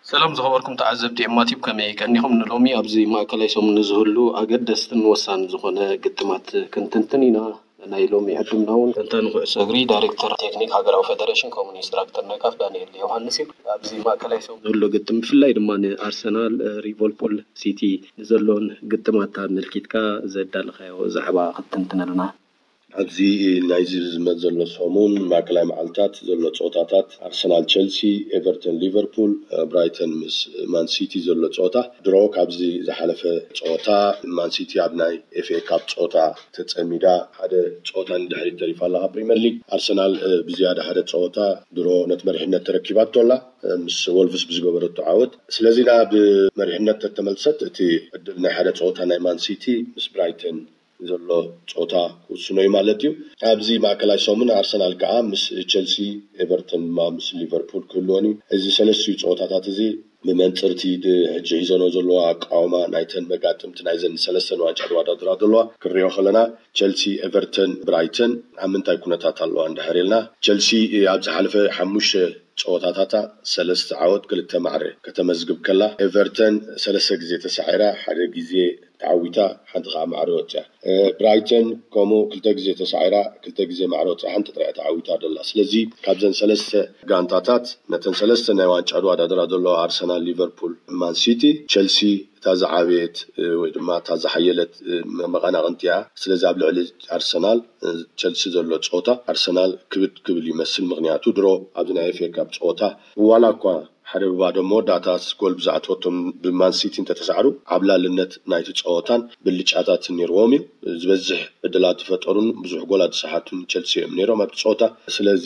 ሰላም ዝኸበርኩም ተዓዘብቲ ኤማቲብ፣ ከመይ ቀኒኹም? ንሎሚ ኣብዚ ማእከላይ ሰሙን ንዝህሉ ኣገደስትን ወሳን ዝኾነ ግጥማት ክንትንትን ኢና። ናይ ሎሚ ዕድምና እውን ተንታኒ ኩዕሶ እግሪ፣ ዳይሬክተር ቴክኒክ ሃገራዊ ፌደሬሽን ከምኡ ኢንስትራክተር ናይ ካፍ ዳንኤል ዮሃንስ እዩ። ኣብዚ ማእከላይ ሰሙን ዝህሉ ግጥም ብፍላይ ድማ ንኣርሰናል፣ ሊቨርፑል፣ ሲቲ ንዘሎን ግጥማት ኣመልኪትካ ዘዳለኻዮ ዛዕባ ክትትንትነልና። ኣብዚ ናይዚ ዝመጽእ ዘሎ ሰሙን ማእከላይ መዓልታት ዘሎ ጸወታታት ኣርሰናል ቸልሲ፣ ኤቨርተን ሊቨርፑል፣ ብራይተን ምስ ማን ሲቲ ዘሎ ጸወታ። ድሮ ካብዚ ዝሓለፈ ጸወታ ማን ሲቲ ኣብ ናይ ኤፍ ኤ ካፕ ጸወታ ተጸሚዳ ሓደ ጸወታ ንድሕሪት ተሪፋ ኣላ። ካብ ፕሪምየር ሊግ ኣርሰናል ብዝያዳ ሓደ ጸወታ ድሮ ነቲ መሪሕነት ተረኪባቶ ኣላ ምስ ወልቭስ ብዝገበረቶ ዓወት። ስለዚ ናብ መሪሕነት ተተመልሰት እቲ ዕድል ናይ ሓደ ጸወታ ናይ ማን ሲቲ ምስ ብራይተን ዘሎ ጸወታ ክውስኖ እዩ ማለት እዩ። ኣብዚ ማእከላይ ሰሙን ኣርሰናል ከኣ ምስ ቸልሲ፣ ኤቨርተን ድማ ምስ ሊቨርፑል ክህልወን እዩ። እዚ ሰለስቲኡ ጸወታታት እዚ ብመንጽርቲ ድ-፣ ሕጂ ሒዘኖ ዘለዋ ኣቃውማ ናይተን መጋጥምቲ ናይዘን ሰለስተን ዋንጫ ዝወዳደራ ዘለዋ ክንሪኦ ከለና፣ ቸልሲ፣ ኤቨርተን፣ ብራይተን ኣብ ምንታይ ኩነታት ኣለዋ እንድሕር ኢልና፣ ቸልሲ ኣብ ዝሓለፈ ሓሙሽተ ጸወታታታ ሰለስተ ዓወት ክልተ ማዕረ ከተመዝግብ ከላ፣ ኤቨርተን ሰለስተ ግዜ ተሳዒራ ሓደ ግዜ ተዓዊታ፣ ሓንቲ ከኣ ማዕረ ወጽያ። ብራይተን ከምኡ ክልተ ግዜ ተሳዒራ ክልተ ግዜ ማዕረ ወጽያ ሓንቲ ጥራይ ተዓዊታ ደላ። ስለዚ ካብዘን ሰለስተ ጋንታታት ነተን ሰለስተ ናይ ዋንጫ ዝወዳደራ ዘለዋ ኣርሰናል፣ ሊቨርፑል፣ ማን ሲቲ፣ ቸልሲ እታ ዝዓበየት ወይ ድማ እታ ዝሓየለት መቐናቕንቲ እያ። ስለዚ ኣብ ልዕሊ ኣርሰናል ቸልሲ ዘሎ ጸወታ ኣርሰናል ክብድ ክብል ይመስል። ምኽንያቱ ድሮ ኣብዚ ናይ ኤፍ ኤ ካፕ ጸወታ ዋላ እኳ ሓደ ብባዶ መወዳእታ ጎል ብዝኣተወቶም ብማን ሲቲ እንተተሳዕሩ ዓብላልነት ናይቲ ጸወታን ብልጫታትን ነይርዎም እዩ። ዝበዝሕ ዕድላት ዝፈጠሩን ብዙሕ ጎላት ዝሰሓቱን ቸልሲ እዮም ነይሮም ኣብቲ ጸወታ። ስለዚ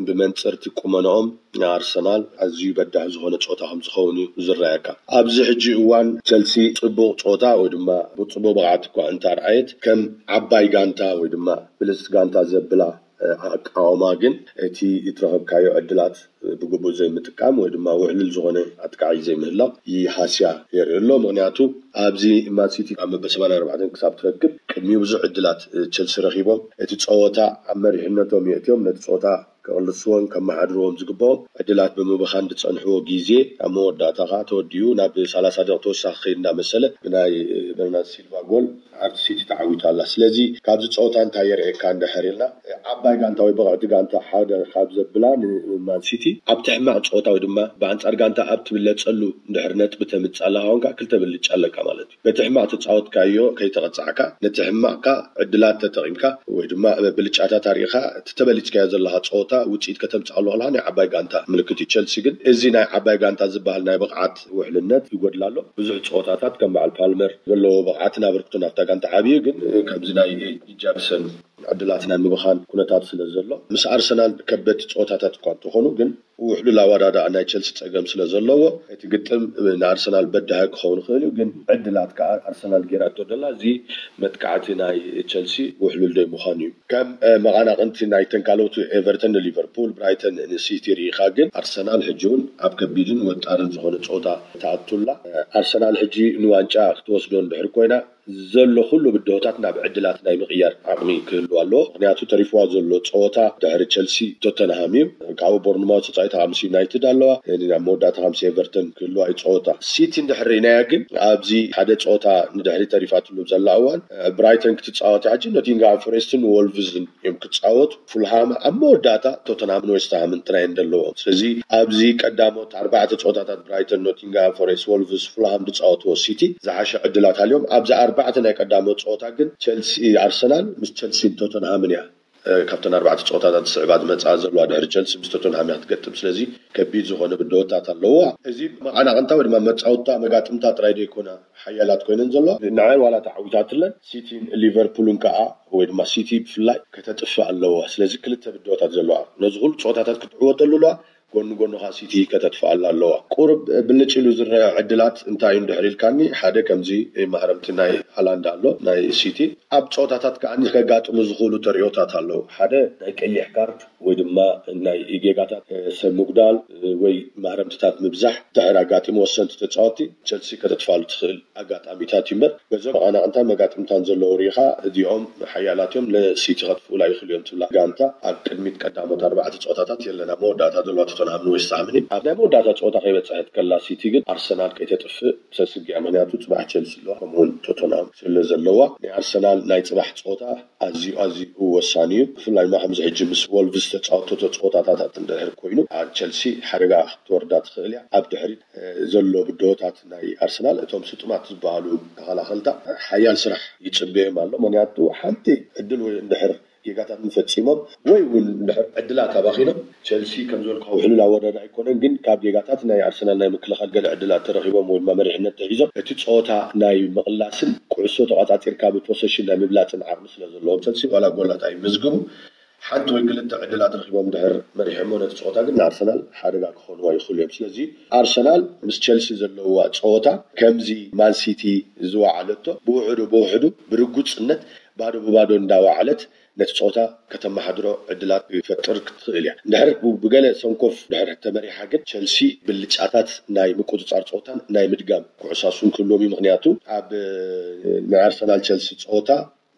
ብመንጽርቲ ቁመናኦም ንኣርሰናል ኣዝዩ በዳሂ ዝኾነ ጸወታ ከም ዝኸውን እዩ ዝረኣየካ። ኣብዚ ሕጂ እዋን ቸልሲ ጽቡቕ ጸወታ ወይ ድማ ጽቡቕ ብቕዓት እኳ እንተርኣየት ከም ዓባይ ጋንታ ወይ ድማ ብልጽቲ ጋንታ ዘብላ ኣቃውማ ግን እቲ እትረኸብካዮ ዕድላት ብግቡእ ዘይምጥቃም ወይ ድማ ውዕሉል ዝኾነ ኣጥቃዒ ዘይምህላው ይሃስያ የርኢ ኣሎ። ምኽንያቱ ኣብዚ ማን ሲቲ ኣብ መበል ሰማንያ ኣርባዕተ ክሳብ ትረክብ ቅድሚኡ ብዙሕ ዕድላት ቸልሲ ረኺቦም እቲ ጸወታ ኣብ መሪሕነቶም የእትዮም ነቲ ጸወታ ከቕልስዎን ከመሓድርዎም ዝግባኦም ዕድላት ብምብኻን ዝጸንሕዎ ግዜ ኣብ መወዳእታ ከኣ ተወዲኡ ናብ ሰላሳ ደቂቕ ተወሳኺ ከይድ እንዳመሰለ ብናይ በርናርድ ሲልቫ ጎል ኣርቲ ሲቲ ተዓዊታ ኣላ። ስለዚ ካብዚ ጸወታ እንታይ የርእየካ እንድሕር ኢልና፣ ዓባይ ጋንታ ወይ ብቕዕቲ ጋንታ ሓደ ካብ ዘብላ ንማን ሲቲ ኣብቲ ሕማቕ ጸወታ ወይ ድማ ብኣንጻር ጋንታ ኣብ ትብለጸሉ እንድሕር ነጥቢ ተምጽእ ኣለኻ ኮንካ ክልተ ብልጫ ኣለካ ማለት እዩ። በቲ ሕማቕ ተጻወትካዮ ከይተቐጻዕካ ነቲ ሕማቕካ ዕድላት ተጠቒምካ ወይ ድማ ብልጫታት ኣርኢኻ እቲ ተበሊጽካዮ ዘለኻ ጸወታ ውጽኢት ከተምጽኣሉ ከለኻ ናይ ዓባይ ጋንታ ምልክት እዩ። ቸልሲ ግን እዚ ናይ ዓባይ ጋንታ ዝበሃል ናይ ብቕዓት ውሕልነት ይጎድላ ኣሎ። ብዙሕ ጸወታታት ከም በዓል ፓልመር ዘለዎ ብቕዓትን ኣበርክቶን ኣብታ ጋንታ ዓብዩ ግን ከምዚ ናይ ጃክሰን ዕድላት ናይ ምብኻን ኩነታት ስለ ዘሎ ምስ ኣርሰናል ከበድቲ ጸወታታት እኳ እንተኾኑ ግን ውሕሉል ኣወዳድኣ ናይ ቸልሲ ጸገም ስለ ዘለዎ እቲ ግጥም ንኣርሰናል በዳሂ ክኸውን ይኽእል እዩ። ግን ዕድላት ከኣ ኣርሰናል ገይራቶ ደላ እዚ መጥቃዕቲ ናይ ቸልሲ ውሕሉል ደይ ምዃኑ እዩ። ከም መቐናቕንቲ ናይ ተንካሎቱ ኤቨርተን ንሊቨርፑል፣ ብራይተን ንሲቲ ርኢኻ ግን ኣርሰናል ሕጂ እውን ኣብ ከቢድን ወጣርን ዝኾነ ጸወታ ተኣቱላ። ኣርሰናል ሕጂ ንዋንጫ ክትወስዶ እንድሕር ኮይና ዘሎ ኩሉ ብድሆታት ናብ ዕድላት ናይ ምቕያር ዓቕሚ ክህልዋ ኣለዎ። ምኽንያቱ ተሪፍዋ ዘሎ ጸወታ ድሕሪ ቸልሲ ቶተንሃም እዩ። ካብኡ ቦርንማውት ተጻዊታ ምስ ዩናይትድ ኣለዋ። ናብ መወዳእታ ምስ ኤቨርተን ክህልዋ እዩ ጸወታ። ሲቲ እንድሕር ርኢናያ ግን ኣብዚ ሓደ ጸወታ ንድሕሪ ተሪፋትሉ ዘላ እዋን ብራይተን ክትጻወት ሕጂ ኖቲንግሃም ፎሬስትን ወልቭዝን እዮም ክጻወቱ። ፉልሃም ኣብ መወዳእታ ቶተንሃምን ዌስትሃምን ጥራይ እዮም ዘለዎም። ስለዚ ኣብዚ ቀዳሞት ኣርባዕተ ጸወታታት ብራይተን፣ ኖቲንግሃም ፎሬስት፣ ወልቭስ፣ ፉልሃም ዝጻወትዎ ሲቲ ዝሓሸ ዕድላት ኣልዮም። ኣብዚ ኣርባዕተ ናይ ቀዳሞት ጸወታ ግን ቸልሲ፣ ኣርሰናል ምስ ቸልሲን ቶተንሃምን እያ ካብተን ኣርባዕተ ጸወታታት ዝስዕባ ዝመጽኣ ዘለዋ ድሕሪ ቸልሲ ምስ ቶተንሃም እያ ክትገጥም። ስለዚ ከቢድ ዝኾነ ብድሆታት ኣለዋ። እዚ መቐናቕንታ ወይ ድማ መጻወትታ መጋጥምታ ጥራይ ዘይኮና ሓያላት ኮይነን ዘለዋ ንዓን ዋላ ተዓዊታትለን ሲቲን ሊቨርፑልን ከኣ ወይ ድማ ሲቲ ብፍላይ ከተጥፍእ ኣለዋ። ስለዚ ክልተ ብድሆታት ዘለዋ ነዚ ኩሉ ጸወታታት ክትዕወተሉ ኣለዋ። ጎኒ ጎኒ ከኣ ሲቲ ከተጥፍኣላ ኣለዋ። ቁሩብ ብልጭ ኢሉ ዝረአ ዕድላት እንታይ እዩ እንድሕር ኢልካኒ፣ ሓደ ከምዚ ማህረምቲ ናይ ሃላንድ ኣሎ ናይ ሲቲ። ኣብ ጸወታታት ከኣ ከጋጥሙ ዝኽእሉ ተርእዮታት ኣለዉ። ሓደ ናይ ቀይሕ ካርድ ወይ ድማ ናይ ጌጋታት ሰብ ምጉዳል ወይ ማህረምትታት ምብዛሕ ድሕር ኣጋጢሙ ወሰንቲ ተጻወቲ ቸልሲ ከተጥፋሉ ትኽእል ኣጋጣሚታት እዩ እምበር በዞም መቐናቕንታን መጋጥምታን ዘለዉ ርኢኻ እዚኦም ሓያላት እዮም ንሲቲ ከጥፍኡላ ይኽእሉ እዮም ትብላ ጋንታ ኣብ ቅድሚት ቀዳሞት ኣርባዕተ ጸወታታት የለና መወዳእታ ዘለዋ ተተን ኣብ ንዌስት ሃምን ኣብ ናይ መወዳእታ ፀወታ ከይበፀሐት ከላ፣ ሲቲ ግን ኣርሰናል ከይተጥፍእ ሰስግያ። ምክንያቱ ፅባሕ ቸልሲ ኣለዋ፣ ከምኡውን ቶተንሃም ስለ ዘለዋ፣ ናይ ኣርሰናል ናይ ፅባሕ ፀወታ ኣዝዩ ኣዝዩ ወሳኒ እዩ። ብፍላይ ድማ ከምዚ ሕጂ ምስ ወልቭስ ተፃወቶ ፀወታታት እንድሕር ኮይኑ፣ ኣብ ቸልሲ ሓደጋ ክትወርዳ ትኽእል እያ። ኣብ ድሕሪት ዘሎ ብድሆታት ናይ ኣርሰናል፣ እቶም ስጡማት ዝበሃሉ ተኸላኸልታ ሓያል ስራሕ ይፅበዮም ኣሎ። ምክንያቱ ሓንቲ ዕድል ወይ እንድሕር ጌጋታት ፈፂሞም ወይ እውን ድሕር ዕድላት ኣባኺኖም፣ ቸልሲ ከም ዝበልኩ ሕሉል ኣወዳድባ ኣይኮነን። ግን ካብ ጌጋታት ናይ ኣርሰናል ናይ ምክልኻል ገለ ዕድላት ተረኺቦም ወይ ድማ መሪሕነት ተሒዞም፣ እቲ ፀወታ ናይ ምቕላስን ኩዕሶ ተቋፃፂርካ ብፖሰሽን ናይ ምብላፅን ዓቕሚ ስለ ዘለዎም፣ ቸልሲ ዋላ ጎላት ኣይምዝግቡ፣ ሓንቲ ወይ ክልተ ዕድላት ረኺቦም ድሕር መሪሖሞ፣ ነቲ ፀወታ ግን ንኣርሰናል ሓደጋ ክኾንዋ ይኽእሉ እዮም። ስለዚ ኣርሰናል ምስ ቸልሲ ዘለዋ ፀወታ ከምዚ ማንሲቲ ዝወዓለቶ ብውሕዱ ብውሕዱ ብርጉፅነት ባዶ ብባዶ እንዳወዓለት ነቲ ፀወታ ከተመሓድሮ ዕድላት ይፈጥር ክትኽእል እያ። እንድሕር ብገለ ሰንኮፍ ድሕር ተመሪሓ ግን፣ ቸልሲ ብልጫታት ናይ ምቁፅፃር ፀወታን ናይ ምድጋም ኩዕሳሱን ክህልዎም እዩ። ምክንያቱ ኣብ ናይ ኣርሰናል ቸልሲ ፀወታ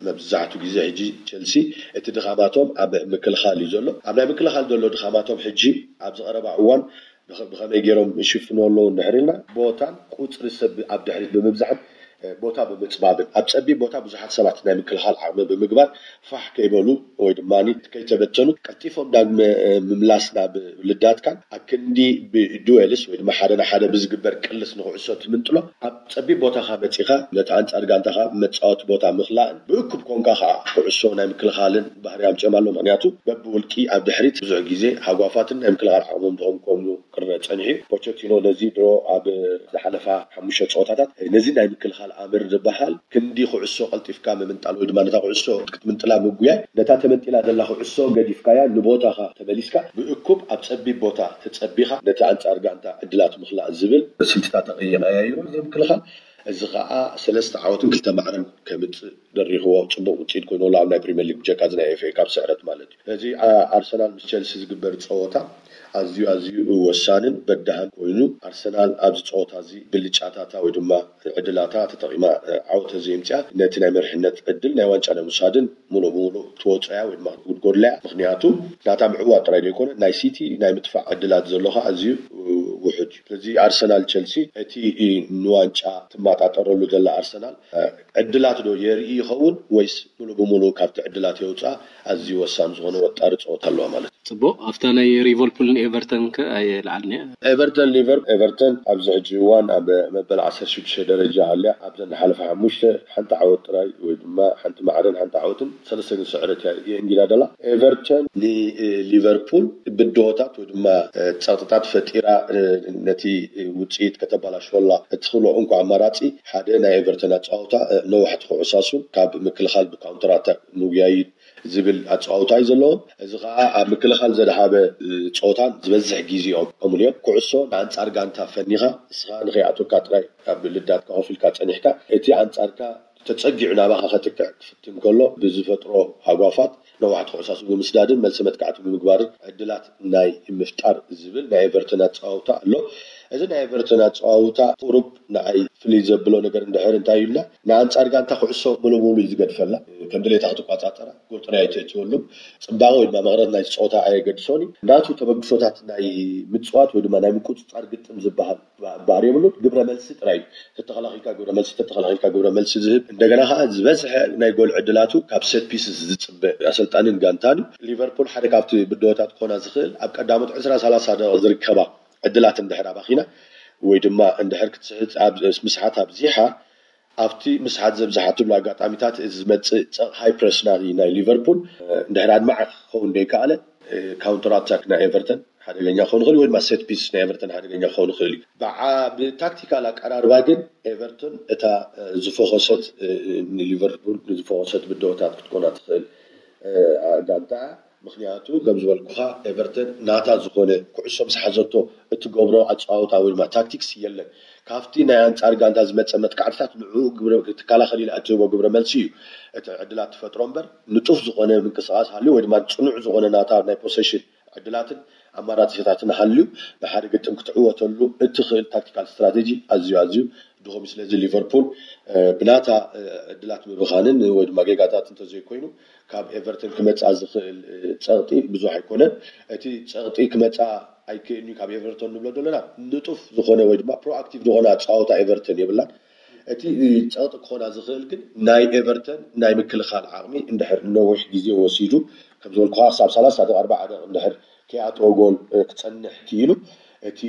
መብዛሕቱ ግዜ ሕጂ ቸልሲ እቲ ድኻማቶም ኣብ ምክልኻል እዩ ዘሎ። ኣብ ናይ ምክልኻል ዘሎ ድኻማቶም ሕጂ ኣብዚ ቀረባ እዋን ብኸ-፣ ብኸመይ ገይሮም ይሽፍኑ ኣለዉ እንድሕር ኢልና፣ ቦታን ቁፅሪ ሰብ ኣብ ድሕሪት ብምብዛሕን፣ እ፣ ቦታ ብምፅባብን፣ ኣብ ፀቢብ ቦታ ብዙሓት ሰባት ናይ ምክልኻል ዓቕሚ ብምግባር፣ ፋሕ ከይበሉ ወይ ድማ ከይተበተኑ ቀልጢፎም ዳግመ፣ እ፣ ምምላስ ናብ ልዳትካን፣ ኣብ ክንዲ ብዱዌልስ ወይ ድማ ሓደ ንሓደ ብዝግበር ቅልስ ንኩዕሶ ትምንጥሎ፣ ኣብ ፀቢብ ቦታኻ መፂኻ ነቲ ኣንፃር ጋንታኻ መፃወቲ ቦታ ምኽላእን፣ ብእኩብ ኮንካ ከዓ ኩዕሶ ናይ ምክልኻልን ባህሪ ኣምፅኦም ኣሎ። ምክንያቱ በብውልቂ ኣብ ድሕሪት ብዙሕ ግዜ ሃጓፋትን ናይ ምክልኻል ዓቕሞም ድኹም ክኾኑ ክረአ ጸኒሑ። ፖቸቲኖ ነዚ ድሮ ኣብ ዝሓለፋ ሓሙሽተ ጸወታታት፣ ነዚ ናይ ምክልኻል ኣምር ዝበሃል ክንዲ ኩዕሶ ቀልጢፍካ ምምንጣል ወይ ድማ ነታ ኩዕሶ ክትምንጥላ ምጉያይ፣ ነታ ተመንጢላ ዘላ ኩዕሶ ገዲፍካያ ንቦታኻ ተመሊስካ ብእኩብ ኣብ ጸቢብ ቦታ ተጸቢኻ ነቲ ኣንጻር ጋንታ ዕድላት ምኽላእ ዝብል ስልትታት ተቐያይሩ ናይ ምክልኻል። እዚ ኸኣ ሰለስተ ዓወትን ክልተ ማዕረን ከምጽእ ደሪኽዎ ጽቡቕ ውጽኢት ኮይኑ ኣሎ ኣብ ናይ ፕሪምየር ሊግ ብጀካ እዚ ናይ ኤፍ ኤ ካፕ ስዕረት ማለት እዩ። ስለዚ ኣ-፣ ኣርሰናል ምስ ቸልሲ ዝግበር ጸወታ ኣዝዩ ኣዝዩ ወሳንን በዳህን ኮይኑ፣ ኣርሰናል ኣብዚ ጸወታ እዚ ብልጫታታ ወይ ድማ ዕድላታ ተጠቒማ፣ እ፣ ዓወት ተዘይምጽኣ ነቲ ናይ መሪሕነት ዕድል ናይ ዋንጫ ናይ ምውሳድን ሙሉእ ብሙሉእ ትወጾ እያ ወይ ድማ ክትጉድጎድላ እያ። ምኽንያቱ ናታ ምዕዋት ጥራይ ዘይኮነ ናይ ሲቲ ናይ ምጥፋእ ዕድላት ዘሎ ኸኣ ኣዝዩ፣ እ፣ ውሑድ እዩ። ስለዚ ኣርሰናል ቸልሲ እቲ፣ እ፣ ንዋንጫ ትመጣጠረሉ ዘላ ኣርሰናል ዕድላት ዶ የርኢ ይኸውን ወይስ ሙሉ ብሙሉ ካብቲ ዕድላት የውፅኣ? ኣዝዩ ወሳኒ ዝኾነ ወጣሪ ፀወታ ኣለዋ ማለት እዩ። ፅቡቅ፣ ኣብታ ናይ ሊቨርፑልን ኤቨርተን ከ ኣየልዓልንያ? ኤቨርተን ሊቨር ኤቨርተን ኣብዚ ሕጂ እዋን ኣብ መበል ዓሰርተ ሽዱሽተ ደረጃ ሃልያ ኣብዘን ሓለፈ ሓሙሽተ ሓንቲ ዓወት ጥራይ ወይ ድማ ሓንቲ ማዕረን ሓንቲ ዓወትን ሰለስተ ግን ስዕረት እያ የእንጊዳ ደላ። ኤቨርተን ንሊቨርፑል ብድሆታት ወይ ድማ ፀቕጥታት ፈጢራ ነቲ ውፅኢት ከተበላሽወላ እትኽእሎ እንኮ ኣማራፂ ሓደ ናይ ኤቨርተን ኣፀዋውታ ነዋሕቲ ኩዕሳሱን ካብ ምክልኻል ብካውንተር ኣታክ ምጉያይን ዝብል ኣፀዋውታ እዩ ዘለዎም። እዚ ከዓ ኣብ ምክልኻል ዘድሃበ ፀወታን ዝበዝሕ ግዜኦም ከምኡ እዮም። ኩዕሶ ንኣንፃር ጋንታ ፈኒኻ ንስኻ ንኸይኣትወካ ጥራይ ኣብ ልዳትካ ኮፍ ኢልካ ፀኒሕካ እቲ ኣንፃርካ ተፀጊዑ ናባኻ ከጥቅዕ ክፍትን ከሎ ብዝፈጥሮ ሃጓፋት ነዋሕቲ ኩዕሳሱ ብምስዳድን መልሲ መጥቃዕቲ ብምግባርን ዕድላት ናይ ምፍጣር ዝብል ናይ ኤቨርተን ኣፀዋውታ ኣሎ። እዚ ናይ ኤቨርተን ኣፀዋውታ ቁሩብ ንዓይ ፍልይ ዘብሎ ነገር እንድሕር እንታይ ኢልና ንኣንፃር ጋንታ ኩዕሶ ሙሉ ሙሉ እዩ ዝገድፈላ። ከም ድሌታ ክትቆፃፀራ ጎል ጥራይ ኣይተእትወሉም። ፅባቐ ወይ ድማ መቕረት ናይ ፀወታ ኣየገድሶን እዩ። ናቱ ተበግሶታት ናይ ምፅዋት ወይ ድማ ናይ ምቁፅፃር ግጥም ዝበሃል ባህሪ የብሉን። ግብረ መልሲ ጥራይ ተተኸላኺልካ ግብረ መልሲ ተተኸላኺልካ ግብረ መልሲ ዝህብ እንደገና ከዓ ዝበዝሐ ናይ ጎል ዕድላቱ ካብ ሴት ፒስስ ዝፅበ ኣሰልጣንን ጋንታን እዩ። ሊቨርፑል ሓደ ካብቲ ብድሆታት ክኾና ዝኽእል ኣብ ቀዳሞት ዕስራ ሰላሳ ደቂቕ ዝርከባ ዕድላት እንድሕር ኣባኺና ወይ ድማ እንድሕር ክትስሕት ኣብ ምስሓት ኣብዚሓ ኣብቲ ምስሓት ዘብዝሓትሉ ኣጋጣሚታት እዚ ዝመፅእ ፀቕ ሃይ ፕረስ ናይ ናይ ሊቨርፑል እንድሕር ኣድማዒ ክኸውን ዘይከኣለ ካውንተር ኣታክ ናይ ኤቨርተን ሓደገኛ ክኸውን ይኽእል ወይ ድማ ሴት ፒስ ናይ ኤቨርተን ሓደገኛ ክኸውን ይኽእል እዩ። ብዓ ብታክቲካል ኣቀራርባ ግን ኤቨርተን እታ ዝፈኾሰት ንሊቨርፑል ዝፈኾሰት ብድሆታት ክትኮና ትኽእል ጋንታ። ምክንያቱ ከም ዝበልኩኻ ኤቨርተን ናታ ዝኾነ ኩዕሶ ምስ ሓዘቶ እትገብሮ ኣፀዋውታ ወይ ድማ ታክቲክስ የለን። ካብቲ ናይ ኣንፃር ጋንታ ዝመፀ መጥቃዕትታት ንዕኡ ግብረ ትከላኸል ኢላ እትህቦ ግብረ መልሲ እዩ እቲ ዕድላት ትፈጥሮ እምበር ንጡፍ ዝኾነ ምንቅስቃስ ሃልዩ ወይ ድማ ፅኑዕ ዝኾነ ናታ ናይ ፖሴሽን ዕድላትን ኣማራፂታትን ሃልዩ ንሓደ ግጥም ክትዕወተሉ እትኽእል ታክቲካል ስትራቴጂ ኣዝዩ ኣዝዩ ስለዚ ሊቨርፑል ብናታ ዕድላት ምብኻንን ወይ ድማ ጌጋታት እንተዘይኮይኑ ካብ ኤቨርተን ክመፅኣ ዝኽእል ፀቕጢ ብዙሕ ኣይኮነን። እቲ ፀቕጢ ክመፅኣ ኣይክእልን'ዩ ካብ ኤቨርተን ንብሎ ዘለና ንጡፍ ዝኾነ ወይ ድማ ፕሮኣክቲቭ ዝኾነ ኣፀዋውታ ኤቨርተን የብላን። እቲ ፀቕጢ ክኾና ዝኽእል ግን ናይ ኤቨርተን ናይ ምክልኻል ዓቕሚ እንድሕር ነዊሕ ግዜ ወሲዱ ከም ዝበልኩኻ ክሳብ ሰላሳ ደቂ ኣርባዓ ደቂ እንድሕር ከይኣተወ ጎል ክፀንሕ ክኢሉ እቲ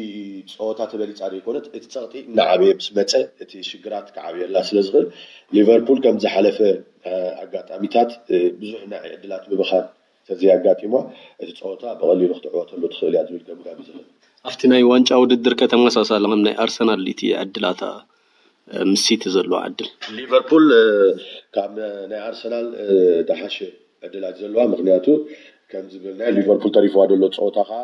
ፀወታ ተበሊፃ ዘይኮነት እቲ ፀቕጢ እናዓበየ ምስ መፀ እቲ ሽግራት ክዓብየላ ስለ ዝኽእል ሊቨርፑል ከም ዝሓለፈ ኣጋጣሚታት ብዙሕ ናይ ዕድላት ምብኻን ተዘይኣጋጢሞ እቲ ፀወታ ብቐሊሉ ክትዕወተሉ ትኽእል እያ ዝብል ገምጋም እዩ ዘለኒ። ኣብቲ ናይ ዋንጫ ውድድር ከተመሳሳሊ ከም ናይ ኣርሰናል እቲ ዕድላታ ምስ ሲቲ ዘለዎ ዕድል ሊቨርፑል ካብ ናይ ኣርሰናል ዝሓሸ ዕድላት ዘለዋ ምክንያቱ ከምዚ ብልናይ ሊቨርፑል ተሪፍዋ ዘሎ ፀወታ ከዓ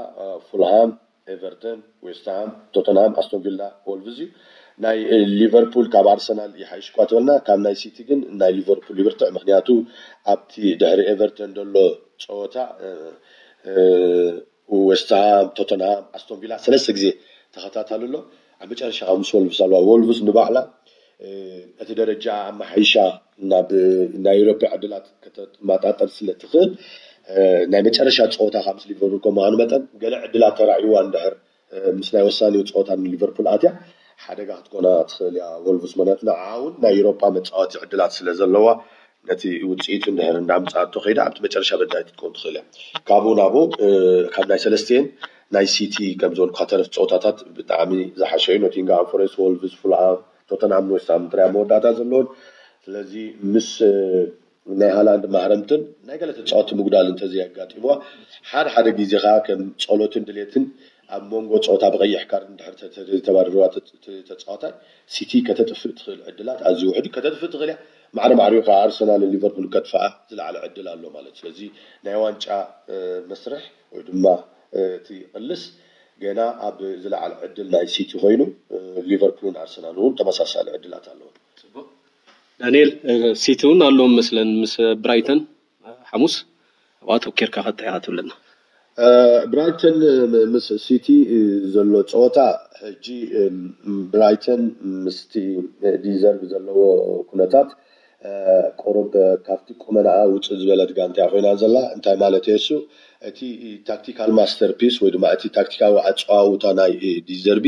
ፉልሃም ኤቨርተን፣ ዌስትሃም፣ ቶተንሃም፣ ኣስቶን ቪላ፣ ወልቭዝ እዩ። ናይ ሊቨርፑል ካብ ኣርሰናል ይሓይሽ እኳ ተበልና ካብ ናይ ሲቲ ግን ናይ ሊቨርፑል ይብርትዕ። ምክንያቱ ኣብቲ ድሕሪ ኤቨርተን ዘሎ ፀወታ ዌስትሃም፣ ቶተንሃም፣ ኣስቶን ቪላ ሰለስተ ግዜ ተኸታታሊ ኣሎ። ኣብ መጨረሻ ከዓ ምስ ወልቭስ ኣለዋ። ወልቭስ ንባዕላ እቲ ደረጃ ኣመሓይሻ ናብ ናይ ኤውሮፓ ዕድላት ከተመጣጠር ስለ ትኽእል ናይ መጨረሻ ፀወታ ካብ ምስ ሊቨርፑል ከም ምዃኑ መጠን ገለ ዕድላት ተራእይዋ እንድሕር ምስ ናይ ወሳኒ ፀወታ ንሊቨርፑል ኣትያ ሓደጋ ክትኮና ትኽእል እያ ወልቭስ። ምክንያቱ ንዓ እውን ናይ ኤውሮፓ መፃወቲ ዕድላት ስለ ዘለዋ ነቲ ውፅኢቱ እንድሕር እንዳምፃኣቶ ከይዳ ኣብቲ መጨረሻ በዳይት ክትኮን ትኽእል እያ። ካብኡ ናብኡ ካብ ናይ ሰለስቲኤን ናይ ሲቲ ከም ዝበልኩካ ተረፍ ፀወታታት ብጣዕሚ ዝሓሸ እዩ። ኖቲንግሃም ፎረስት፣ ወልቭስ፣ ፉልሃም፣ ቶተንሃም፣ ዌስትሃም ጥራይ መወዳእታ ዘለዎን ስለዚ ምስ ናይ ሃላንድ ማህረምትን ናይ ገለ ተፃወቲ ምጉዳል እንተዘይኣጋጢምዋ ሓደ ሓደ ግዜ ከዓ ከም ፀሎትን ድሌትን ኣብ መንጎ ፀወታ ብቀይሕ ካርድ እንድሕር ተባሪርዋ ተፃዋታይ ሲቲ ከተጥፍእ ትኽእል ዕድላት ኣዝዩ ውሕድ እዩ። ከተጥፍእ ትኽእል እያ። ማዕረ ማዕሪኡ ከዓ ኣርሰናልን ሊቨርፑል ከጥፍኣ ዝለዓለ ዕድል ኣሎ ማለት ስለዚ ናይ ዋንጫ መስርሕ ወይ ድማ እቲ ቅልስ ገና ኣብ ዝለዓለ ዕድል ናይ ሲቲ ኮይኑ ሊቨርፑልን ኣርሰናል እውን ተመሳሳሊ ዕድላት ኣለዎ። ዳንኤል ሲቲ እውን ኣለዎም መስለን ምስ ብራይተን ሓሙስ ኣብኣ ተኪርካ ከተሕያ ትብለና። ብራይተን ምስ ሲቲ ዘሎ ፀወታ ሕጂ ብራይተን ምስቲ ዲዘርቭ ዘለዎ ኩነታት ቁሩብ ካብቲ ቁመናኣ ውፅእ ዝበለት ጋንታ ኮይና ዘላ እንታይ ማለት እሱ እቲ ታክቲካል ማስተርፒስ ወይ ድማ እቲ ታክቲካዊ ኣፀዋውታ ናይ ዲዘርቢ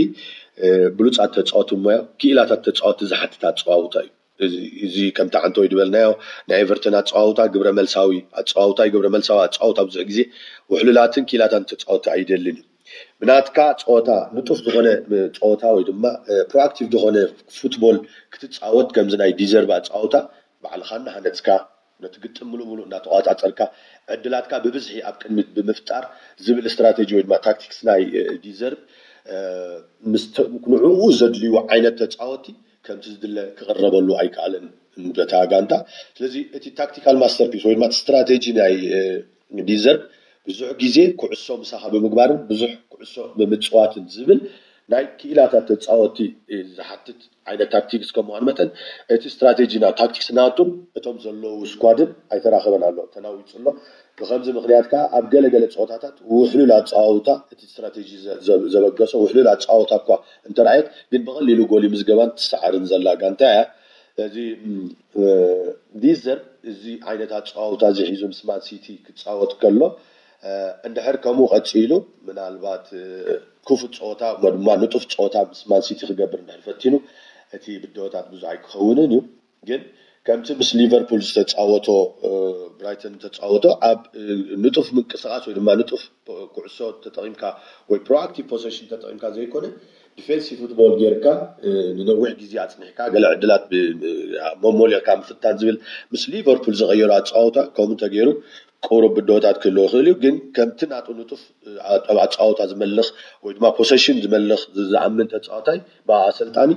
ብሉፃት ተፃወቲ ሞያ ክኢላታት ተፃወቲ ዝሓትት ኣፀዋውታ እዩ። እዚ ከምቲ ዓንተ ወይ ዝበልናዮ ናይ ኤቨርተን ኣፀዋውታ ግብረ መልሳዊ ኣፀዋውታ እዩ። ግብረ መልሳዊ ኣፀዋውታ ብዙሕ ግዜ ውሕሉላትን ክኢላታን ተፃወቲ ኣይደልን እዩ። ብናትካ ፀወታ ንጡፍ ዝኾነ ፀወታ ወይ ድማ ፕሮኣክቲቭ ዝኾነ ፉትቦል ክትፃወት ከምዚ ናይ ዲዘርቭ ኣፀዋውታ ባዕልኻ እናሃነፅካ ነቲ ግጥም ሙሉእ ሙሉእ እናተቋፃፀርካ ዕድላትካ ብብዝሒ ኣብ ቅድሚት ብምፍጣር ዝብል ስትራቴጂ ወይ ድማ ታክቲክስ ናይ ዲዘርቭ ንዕኡ ዘድልዩ ዓይነት ተፃወቲ ከምቲ ዝድለ ክቕረበሉ ኣይከኣለን በታ ጋንታ። ስለዚ እቲ ታክቲካል ማስተርፒስ ወይ ድማ ስትራቴጂ ናይ ዲዘርቭ ብዙሕ ግዜ ኩዕሶ ምሳኻ ብምግባርን ብዙሕ ኩዕሶ ብምፅዋትን ዝብል ናይ ክኢላታት ተፃወቲ ዝሓትት ዓይነት ታክቲክስ ከም ምዃኑ መጠን እቲ ስትራቴጂ ናብ ታክቲክስ ናቱን እቶም ዘለዉ ስኳድን ኣይተራኸበን ኣሎ፣ ተናዊፁ ኣሎ። ብኸምዚ ምኽንያት ከዓ ኣብ ገለ ገለ ፀወታታት ውሕሉል ኣፀዋውታ እቲ ስትራቴጂ ዘበገሶ ውሕሉል ኣፀዋውታ እኳ እንተረኣየት ግን ብቐሊሉ ጎል ምዝገባን ትሰዓርን ዘላ ጋንታ እያ። ስለዚ ዲዘር እዚ ዓይነት ኣፀዋውታ እዚ ሒዙ ምስ ማን ሲቲ ክፃወት ከሎ እንድሕር ከምኡ ቀፂሉ ምናልባት ክፉት ፀወታ እሞ ድማ ንጡፍ ፀወታ ምስ ማን ሲቲ ክገብር እንድሕር ፈቲኑ እቲ ብድሆታት ብዙሕ ኣይክኸውንን እዩ። ግን ከምቲ ምስ ሊቨርፑል ዝተፃወቶ ብራይተን ዝተፃወቶ ኣብ ንጡፍ ምንቅስቃስ ወይ ድማ ንጡፍ ኩዕሶ ተጠቂምካ ወይ ፕሮኣክቲቭ ፖሰሽን ተጠቂምካ ዘይኮነ ዲፌንሲቭ ፉትቦል ጌርካ ንነዊሕ ግዜ ኣፅኒሕካ ገለ ዕድላት መሞሊቕካ ምፍታን ዝብል ምስ ሊቨርፑል ዝቐየሮ ኣፃወታ ከምኡ እንተገይሩ ቁሩብ ብድሆታት ክህልዎ ይኽእል እዩ። ግን ከምቲ ናቱ ንጡፍ ኣፃወታ ዝመልኽ ወይ ድማ ፖሰሽን ዝመልኽ ዝኣምን ተፃዋታይ ብኣሰልጣኒ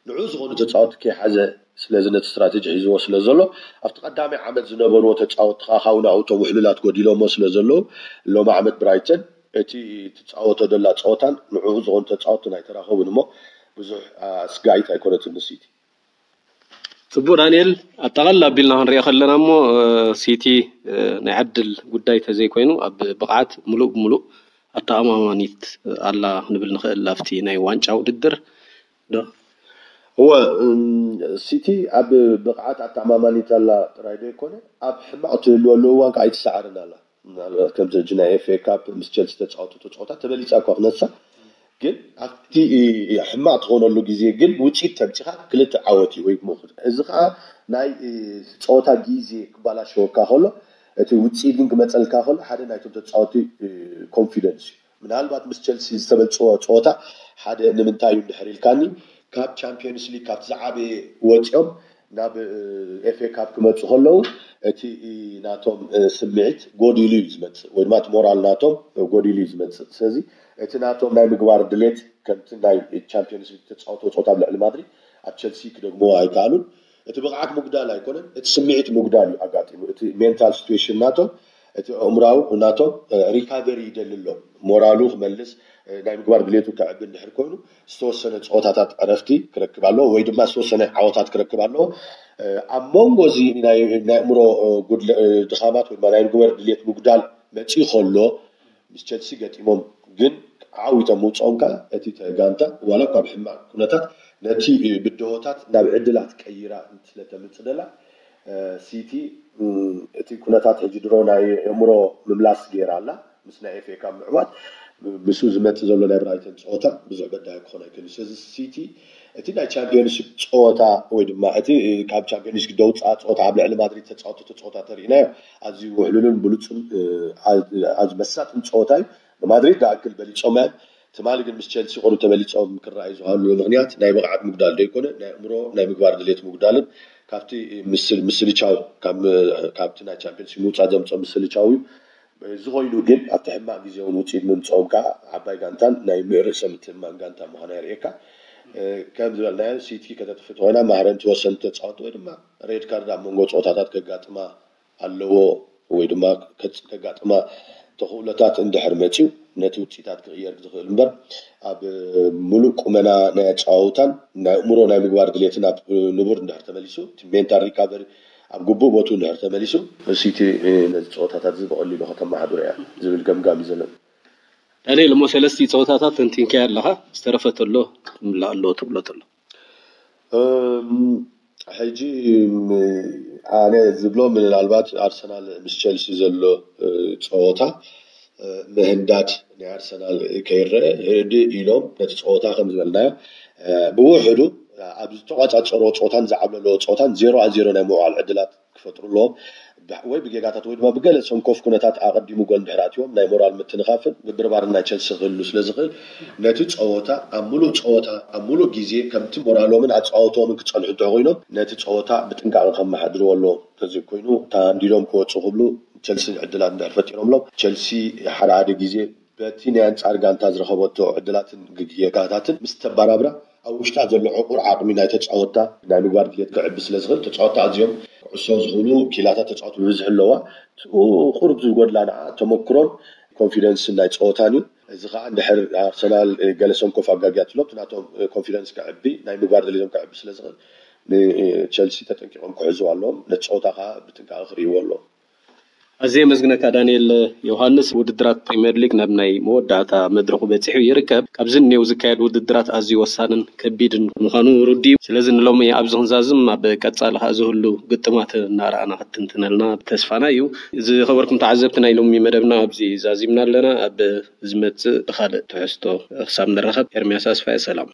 ንዑ ዝኾኑ ተፃወቲ ከይሓዘ ስለዚ ነቲ ስትራቴጂ ሒዝዎ ስለ ዘሎ ኣብቲ ቀዳማይ ዓመት ዝነበርዎ ተፃወቲ ከዓ ካብኡ ናብኡ እቶም ውሕሉላት ጎዲሎሞ ስለ ዘለዉ ሎሚ ዓመት ብራይተን እቲ ትፃወቶ ደላ ፀወታን ንዕኡ ዝኾኑ ተፃወትን ኣይተራኸቡን እሞ ብዙሕ ኣስጋኢት ኣይኮነትን ንሲቲ። ፅቡቅ ዳንኤል፣ ኣጠቃልል ኣቢልና ክንሪኦ ከለና እሞ ሲቲ ናይ ዕድል ጉዳይ ተዘይኮይኑ ኣብ ብቕዓት ሙሉእ ብሙሉእ ኣተኣማማኒት ኣላ ክንብል ንኽእል ኣብቲ ናይ ዋንጫ ውድድር ዶ? እወ፣ እም፣ ሲቲ ኣብ ብቕዓት ኣተኣማማኒት ኣላ ጥራይ ዶ ይኮነ፣ ኣብ ሕማቕ ትህልወሉ እዋን ከዓ ኣይትሰዓርን ኣላ። ምናልባት ከምዚ ሕጂ ናይ ኤፍ ኤ ካፕ ምስ ቸልሲ ተፃወቱ ተፃወታ ተበሊፃ እኳ ክነሳ፣ ግን ኣብቲ ሕማቕ ትኾነሉ ግዜ ግን ውፅኢት ተምፂኻ ክልተ ዓወት እዩ ወይ ግሞ። እዚ ከዓ ናይ እ፣ ጸወታ ግዜ ክባላሸወካ ከሎ፣ እቲ ውፅኢት ግን ክመፀልካ ከሎ ሓደ ናይቶም ተፃወቲ ኮንፊደንስ እዩ። ምናልባት ምስ ቸልሲ ዝተበልፅዎ ፀወታ ሓደ ንምንታይ እዩ እንድሕር ኢልካኒ፣ ካብ ቻምፒዮንስ ሊግ ካብቲ ዝዓበየ ወፂኦም ናብ ኤፍ ኤ ካፕ ክመፁ ከለዉ እቲ ናቶም ስምዒት ጎዲሉ እዩ ዝመፅእ፣ ወይ ድማ እቲ ሞራል ናቶም ጎዲሉ እዩ ዝመፅእ። ስለዚ እቲ ናቶም ናይ ምግባር ድሌት ከምቲ ናይ ቻምፒዮንስ ሊግ ተፃወቶ ፀወታ ኣብ ልዕሊ ማድሪድ ኣብ ቸልሲ ክደግሞ ኣይከኣሉን። እቲ ብቕዓት ምጉዳል ኣይኮነን፣ እቲ ስምዒት ምጉዳል እዩ ኣጋጢሙ። እቲ ሜንታል ሲትዌሽን ናቶም፣ እቲ ኣእምራዊ ናቶም ሪካቨሪ ይደሊ ኣሎ። ሞራሉ ክመልስ ናይ ምግባር ድሌቱ ከዕቢ እንድሕር ኮይኑ ዝተወሰነ ፀወታታት ዕረፍቲ ክረክብ ኣለዎ ወይ ድማ ዝተወሰነ ዓወታት ክረክብ ኣለዎ። ኣብ መንጎ እዚ ናይ ኣእምሮ ድኻማት ወይ ናይ ምግባር ድሌት ምጉዳል መፅኢ ከሎ ምስ ቸልሲ ገጢሞም ግን ዓዊቶም ምውፅኦም ከዓ እቲ ጋንታ ዋላ እኳ ብሕማቕ ኩነታት ነቲ ብድሆታት ናብ ዕድላት ቀይራ ስለተምፅእ ደላ ሲቲ እቲ ኩነታት ሕጂ ድሮ ናይ ኣእምሮ ምምላስ ገይራ ኣላ። ምስ ናይ ኤፍ ኤ ካፕ ምዕዋት ምስኡ ዝመፅእ ዘሎ ናይ ብራይተን ፀወታ ብዙሕ በዳሂ ክኾን ኣይክእልን። ስለዚ ሲቲ እቲ ናይ ቻምፒዮንስ ሊግ ፀወታ ወይ ድማ እቲ ካብ ቻምፒዮንስ ሊግ ደውፃ ፀወታ ኣብ ልዕሊ ማድሪድ ተፃወቶ ተፃወታ ተሪእናዮ ኣዝዩ ውሕሉልን ብሉፅን ኣዝዩ መሳጥን ፀወታ እዩ። ንማድሪድ ዝኣክል በሊፆም እዮም። ትማሊ ግን ምስ ቸልሲ ቁሩብ ተበሊፆም ክረኣዩ ዝሃሉ ምክንያት ናይ ብቕዓት ምጉዳል ዶ ይኮነ ናይ ኣእምሮ ናይ ምግባር ድሌት ምጉዳልን ካብቲ ምስልቻው ካብቲ ናይ ቻምፒዮንስ ሊግ ምውፃእ ዘምፅኦ ምስልቻው እዩ። እዚ ኮይኑ ግን ኣብቲ ሕማቕ ግዜ እውን ውፅኢት ምምፅኦም ከዓ ዓባይ ጋንታን ናይ ምእርሰ ምትእምማን ጋንታ ምዃና የርእየካ። ከም ዝበልናዮ ሲቲ ከተጥፊ ተኮይና ማህረምቲ ወሰንቲ ተፃወቲ ወይ ድማ ሬድ ካርድ ኣብ መንጎ ፀወታታት ከጋጥማ ኣለዎ ወይ ድማ ከጋጥማ ተኽእሎታት እንድሕር መፅዩ ነቲ ውፅኢታት ክቕየር ዝኽእል እምበር ኣብ ሙሉእ ቁመና ናይ ኣፀዋውታን ናይ ኣእምሮ ናይ ምግባር ድሌትን ኣብ ንቡር እንድሕር ተመሊሱ እቲ ሜንታል ሪካቨሪ ኣብ ግቡእ ቦትኡ እንድሕር ተመሊሱ ሲቲ ነዚ ፀወታታት እዚ ብቐሊሉ ከተመሓድሮ እያ ዝብል ገምጋም እዩ ዘለኒ። ዳንኤል፣ እሞ ሰለስቲ ፀወታታት ተንቲንካዮ ኣለኻ፣ ዝተረፈ ተሎ ክምላእ ኣለዎ ትብሎ ተሎ? ሕጂ ኣነ ዝብሎ ምናልባት ኣርሰናል ምስ ቸልሲ ዘሎ ፀወታ ምህንዳድ ናይ ኣርሰናል ከይረአ ህድእ ኢሎም ነቲ ፀወታ ከም ዝበልናዮ ብውሕዱ ኣብ ዝተቋፃፀርዎ ፀወታን ዝዓብለለዎ ፀወታን ዜሮ ዜሮ ናይ ምውዓል ዕድላት ክፈጥሩ ኣለዎም። ወይ ብጌጋታት ወይ ድማ ብገለ ሰንኮፍ ኩነታት ኣቐዲሙ ጎል እንድሕር ኣትዎም ናይ ሞራል ምትንኻፍን ምብርባርን ናይ ቸልሲ ክህሉ ስለ ዝኽእል ነቲ ፀወታ ኣብ ሙሉእ ፀወታ ኣብ ሙሉእ ግዜ ከምቲ ሞራሎምን ኣፃወትኦምን ክፀንሑ እንተኾይኖም ነቲ ፀወታ ብጥንቃቐ ከመሓድርዎ ኣለዎም። ተዘይኮይኑ ተሃንዲዶም ክወፁ ክብሉ ቸልሲ ዕድላት እንድሕር ፈጢሮምሎም ቸልሲ ሓደ ሓደ ግዜ በቲ ናይ ኣንፃር ጋንታ ዝረኸበቶ ዕድላትን ጌጋታትን ምስ ተበራብራ ኣብ ውሽጣ ዘሎ ዕቑር ዓቕሚ ናይ ተፃወታ ናይ ምግባር ድሌት ክዕቢ ስለ ዝኽእል ተፃወታ ኣዝዮም ኩዕሶ ዝኽእሉ ኪላታት ተፃወቱ ብብዝሒ ኣለዋ። ቁሩብ ዝጎድላ ንዓ ተመክሮን ኮንፊደንስን ናይ ፀወታን እዩ። እዚ ከዓ እንድሕር ኣርሰናል ገለ ሰንኮፍ ኣጋጊያትሎም ናቶም ኮንፊደንስ ክዕቢ ናይ ምግባር ድሌቶም ክዕቢ ስለ ዝኽእል ንቸልሲ ተጠንቂቆም ክሕዝዋ ኣለዎም። ነቲ ፀወታ ከዓ ብጥንቃቐ ክርእይዎ ኣለዎም። ኣዝየ የመስግነካ ዳንኤል ዮሃንስ። ውድድራት ፕሪምየር ሊግ ናብ ናይ መወዳእታ መድረኹ በጺሑ ይርከብ። ካብዚ እኔው ዝካየድ ውድድራት ኣዝዩ ወሳንን ከቢድን ምዃኑ ርዱእ እዩ። ስለዚ ንሎሚ ኣብዚ ክንዛዝም፣ ኣብ ቀጻሊ ከኣ ዝህሉ ግጥማት እናረኣና ክትትንትነልና ተስፋና እዩ። ዝኸበርኩም ተዓዘብቲ ናይ ሎሚ መደብና ኣብዚ ዛዚምና ኣለና። ኣብ ዝመጽእ ብኻልእ ትሕዝቶ ክሳብ ንራኸብ ኤርምያስ ኣስፋየ ሰላም።